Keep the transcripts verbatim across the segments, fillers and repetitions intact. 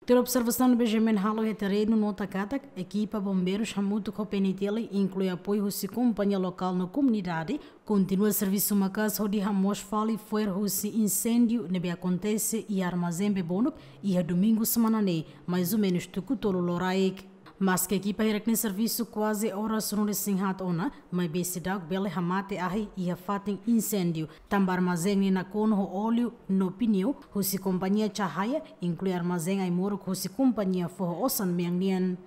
Tuir observasaun ne'ebé GMN halo iha terrenu, nota katak ekipa bombeirus hamutuk ho PNTL, inklui apoiu husi kompañia lokál no komunidade, kontinua servisu maka'as hodi hamoos fali fo'er husi inséndiu ne'ebé akontese iha armazén Bebonuk iha domingu semana ne'e, mais ou menus tuku tolu loraik. Maske ekipa hirak-ne'e servisu kuaze oras ruanulu-resin-haat ona, maibé seidauk bele hamate ahi iha fatin inséndiu, tanba armazén ne'e nakonu ho óleu no pneu husi kompañia Cahaya, inklui armazén ai-moruk husi kompañia foho osan mean nian.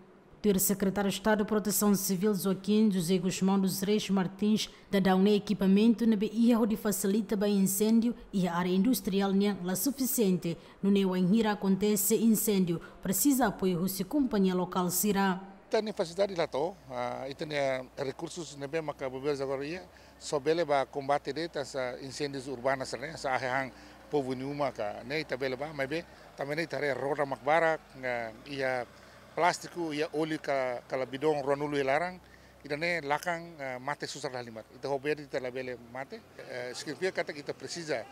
Tuir Sekretáriu Estadu Protesaun Sivíl Joaquim José Gusmão dos Reis Martins, daudaun ne'e ekipamentu ne'ebé iha hodi fasilita ba inséndiu iha área industriál nian la sufisiente, nune'e wainhira akontese inséndiu, presiza apoiu husi kompañia lokál sira. Ita-nia fasilidade la to'o, ah, ita-nia rekursus ne'ebé maka bombeiru agora iha, só bele ba kombate de'it hanesan inséndiu urbanu sira-ne'e, hanesan ahi han povu nia uma ka ne'e ita bele ba, maibé tanba ne'e ita haree roda mak barak, ah, iha plástiku, iha óleu ka, kala bidon ruanulu iha laran, ida-ne'e lakan, ah, mate susar la halimar. Ita ho bee de'it ita labele mate. Eh, signifika katak ita presiza,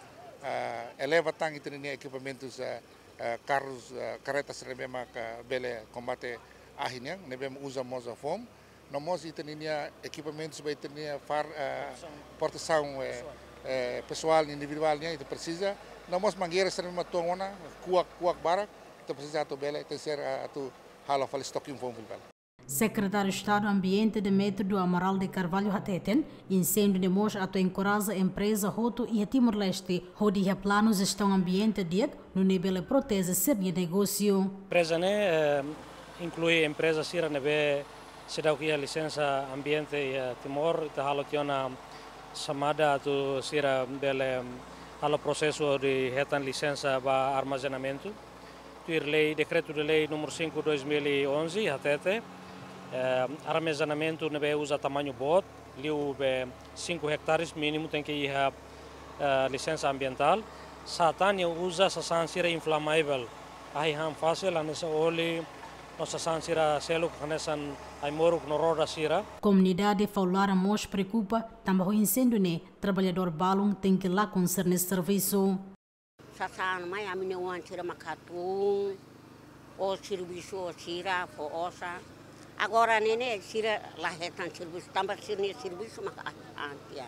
ah, eleva tan ita-nia ekipamentus, ah, ah, karrus, ah, karretas ne'ebé maka bele kombate ahi nian, ne'ebé uza mós foam. No mós ita-nia ekipamentus ba ita-nia far, ah, protesaun, eh, pesoál, eh, pesoál individuál nian ita presiza. No mós mangeira sira ne'ebé mak tuan ona, kuak, kuak barak, ita presiza atu bele, tenke ser, ah, atu halo fali estoking foam fali. Sekretáriu Estadu Ambiente Demétrio do Amaral de Carvalho hateten, inséndiu ne'e mós atu enkoraja empreza hotu iha Timor-Leste hodi iha planu jestaun ambiente di'ak, nune'e bele proteje sira-nia negósiu. Empreza ne'e, eh, inklui empreza sira ne'ebé seidauk iha lisensa ambiente iha Timor, ita halo tiha ona xamada atu sira bele halo prosesu hodi hetan lisensa ba armazenamentu. Tuir lei, dekretu de lei número cinco dois mil e onze, hatete, eh, armazenamentu ne'ebé uza tamañu boot, liu be cinco hectares mínimu tenke iha, eh, lisensa ambientál. Sá tan nia uza sasán sira inflamável, ahi han fasil, hanesan óleu, no sasán sira seluk, hanesan ai-moruk no roda sira. Komunidade Faolara mós preokupa, tanba ho inséndiu ne'e, traballadór balun tenke lakon sira-nia servisu. Sasán mai ami-nia oan sira mak hatún, ó servisu ó sira, fó osan. Agora ne'e ne'e sira la hetan servisu, tanba sira-nia servisu mak ahi han tiha.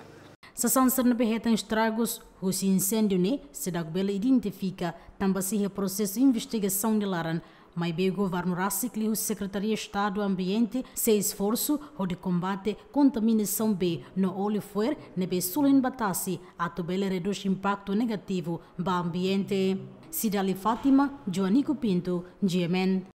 Sasán sira ne'ebé hetan estragus husi inséndiu ne'e seidauk bele identifika, tanba sei iha prosesu investigasaun nia laran. Maibé governu rasik liuhusi Sekretaria Estadu Ambiente sei esforsu hodi kombate kontaminasaun bee no óleu fo'er ne'ebé sorin ba tasi atu bele redús impaktu negativu ba ambiente. Cidaly Fátima, Joanico Pinto, GMN.